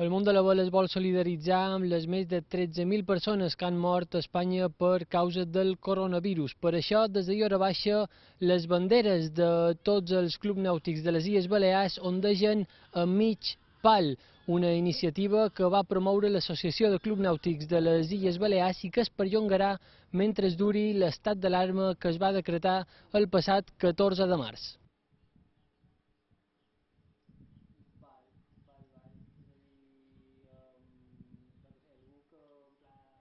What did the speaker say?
El món de la vela es vol solidaritzar amb les més de 13.000 persones que han mort a Espanya per causa del coronavirus. Per això, des de hora baixa, les banderes de tots els clubs nàutics de les Illes Balears ondegen a mig pal, una iniciativa que va promoure l'Associació de Clubs Nàutics de les Illes Balears i que es perllongarà mentre duri l'estat d'alarma que es va decretar el passat 14 de març.